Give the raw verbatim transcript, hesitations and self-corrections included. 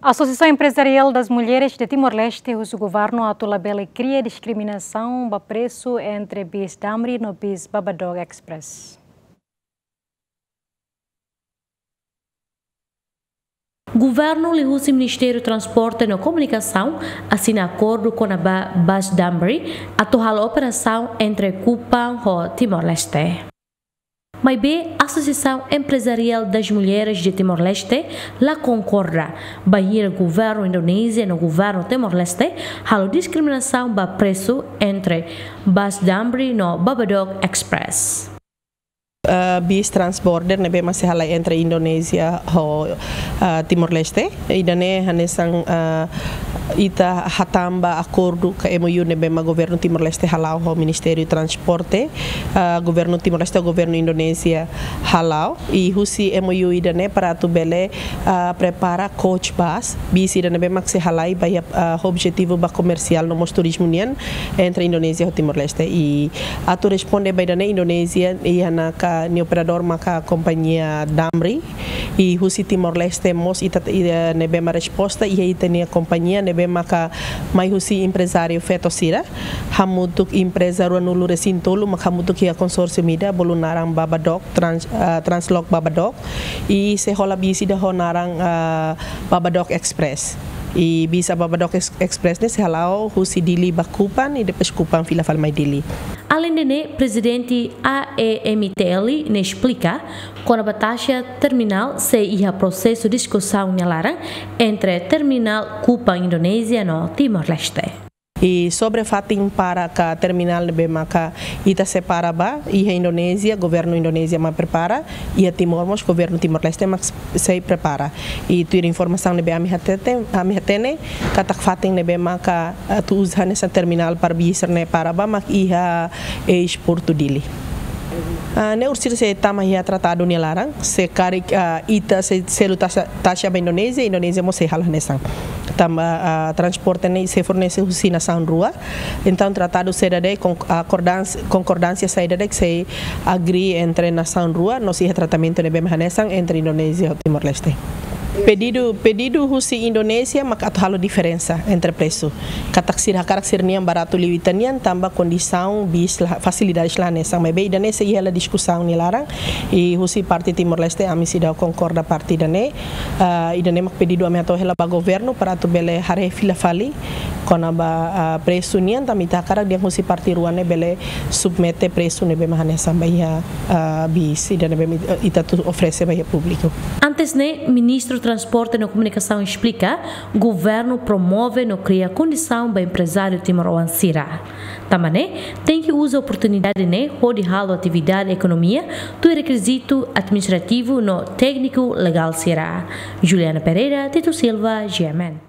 Asosiasaun Emprezariál das Mulheres de Timor-Leste husu governu atu labele kria diskriminasaun ba presu entre bis Damri no bis Babadook Express. Governu liuhusi Ministériu Transporte no Komunikasaun asina akordu kona-ba bis Damri atu halo operasaun entre Kupang ho Timor-Leste. Maibé, Asosiasaun Emprezariál das Mulheres de Timor-Leste la konkorda bainhira governu Indonézia no governu Timor-Leste halo diskriminasaun ba presu entre bis Damri no Babadook Express. Ah, bis transborder ne'ebé mak sei halai entre Indonézia ho, ah, Timor-Leste. Ida-ne'e hanesan, ah, ita hatán ba akordu ka M O U ne'ebé mak governu Timor-Leste hala'o ho Ministériu Transporte, ah, governu Timor-Leste ho governu Indonézia hala'o. I husi M O U ida-ne'e para atu bele, ah, prepara coach bus, bis ida ne'ebé mak sei halai ba iha, ah, objetivu ba komersiál no mós turizmu nian entre Indonézia ho Timor-Leste. I atu responde ba ida-ne'e, Indonézia iha ona ka nia operadór maka kompañia Damri. I husi Timor-Leste mós ita, ida ne'ebé mak resposta iha ita-nia kompañia ne'ebé maka mai husi emprezáriu feto sira hamutuk empreza ruanulu-resin-tolu mak hamutuk iha konsórsiu ida bolu naran Babadook, Trans-, ah, Translok Babadook. I sei hola bis ida ho naran, ah, Babadook Express. I bis Babadook Ex-, Express ne'e sei hala'o husi Dili ba Kupang, i depois Kupang fila fali mai Dili. Aleinde ne'e, Prezidente A E M T L ne'e esplika kona-ba taxa terminál sei iha prosesu diskusaun nia laran entre terminál Kupang Indonézia no Timor-Leste. I sobre fatin para ka terminál ne'ebé maka ita sei para ba, iha Indonézia, governu Indonézia mak prepara, iha Timor mós governu Timor-Leste mak sei prepara. I tuir informasaun ne'ebé ami hatete, ami hatene, katak fatin ne'ebé maka, ah, atu uza hanesan terminál para bis ne'e para ba mak iha eis-portu Dili. Ah, ne'e orsida sei tama iha tratadu nia laran, se karik, ah, ita sei selu taxa, taxa ba Indonézia, Indonézia mós sei halo hanesan. Tanba, ah, transporte ne'e sei fornese husi nasaun rua. Entaun, tratadu saida de'it, kon-, akordans-, konkordánsia saida de'it sei agree entre nasaun rua, no sei iha tratamentu ne'ebé mak hanesan entre Indonézia ho Timor-Leste. Pedidu, pedidu husi Indonézia mak atu halo diferensa entre presu. Katak sira hakarak sira-nian baratu liu ita-nian tanba kondisaun bis la, fasilidades la hanesan. Maibé ida-ne'e sei iha hela diskusaun nia laran. I husi parte Timor-Leste ami seidauk konkorda parte ida-ne'e. Ah, ida-ne'e mak pedidu ami hato'o hela ba governu para atu bele haree fila fali kona-ba, ah, presu nian, tanba ita hakarak dehan husi parte rua ne'e bele submete presu ne'ebé mak hanesan ba iha, ah, bis ida ne'ebé mak ita atu oferese ba iha públiku. Antes ne'e, Ministru Transporte no Komunikasaun esplika, governu promove no kria kondisaun ba emprezáriu timoroan sira. Tanba ne'e, tenke uza oportunidade ne'e hodi halo atividade ekonomia tuir rekizitu administrativu no tékniku legál sira. Juliana Pereira, Tito Silva, G M N.